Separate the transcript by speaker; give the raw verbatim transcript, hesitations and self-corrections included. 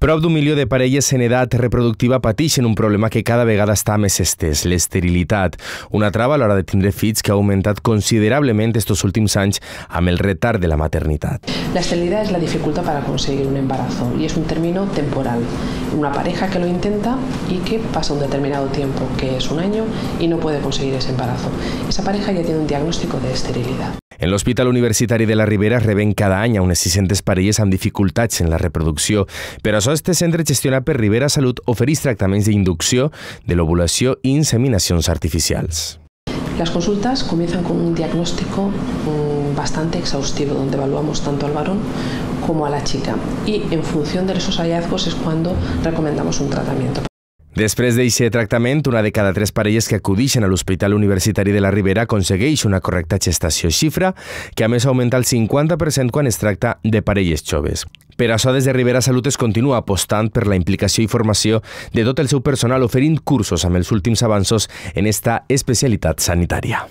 Speaker 1: Prop d'un milió de parelles en edat reproductiva pateixen un problema que cada vegada està més estès, l'esterilitat, una trava a l'hora de tindre fills que ha augmentat considerablement estos últims anys amb el retard de la maternitat.
Speaker 2: La esterilidad es la dificultad para conseguir un embarazo y es un término temporal. Una pareja que lo intenta y que pasa un determinado tiempo, que es un año, y no puede conseguir ese embarazo. Esa pareja ya tiene un diagnóstico de esterilidad.
Speaker 1: En l'Hospital Universitari de la Ribera reben cada any a unes sis-centes parelles amb dificultats en la reproducció. Per això, este centre gestionat per Ribera Salut ofereix tractaments d'inducció, de l'ovulació i inseminacions artificials.
Speaker 2: Las consultas comienzan con un diagnóstico bastante exhaustivo, donde evaluamos tanto al varón como a la chica. Y en función de esos hallazgos es cuando recomendamos un tratamiento.
Speaker 1: Després d'aquest tractament, una de cada tres parelles que acudeixen a l'Hospital Universitari de la Ribera aconsegueix una correcta gestació, xifra que a més augmenta el cinquanta per cent quan es tracta de parelles joves. Per això, des de Ribera Salut es continua apostant per la implicació i formació de tot el seu personal, oferint cursos amb els últims avanços en esta especialitat sanitària.